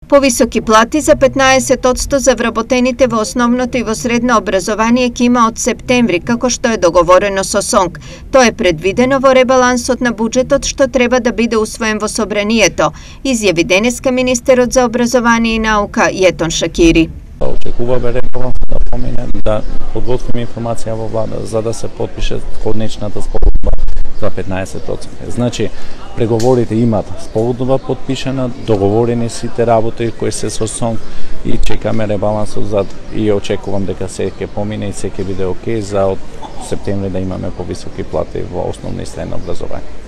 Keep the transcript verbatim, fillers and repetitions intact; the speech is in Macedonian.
Повисоки плати за петнаесет одсто за вработените во основното и во средно образование ќе има од септември, како што е договорено со СОНК. Тоа е предвидено во ребалансот на буџетот што треба да биде усвоен во собранието, изјави денеска министерот за образование и наука Јетон Шакири. Очекуваме ребаланс да помине, да подготвиме информација во влада за да се потпише конечната спогодба за петнаесет одсто. Значи, преговорите имат спогодба подпишана, договорени сите работи кои се со СОНК и чекаме ребалансот за и очекувам дека се ќе помине и се ќе биде окей за од септември да имаме повисоки плати во основно и средно образование.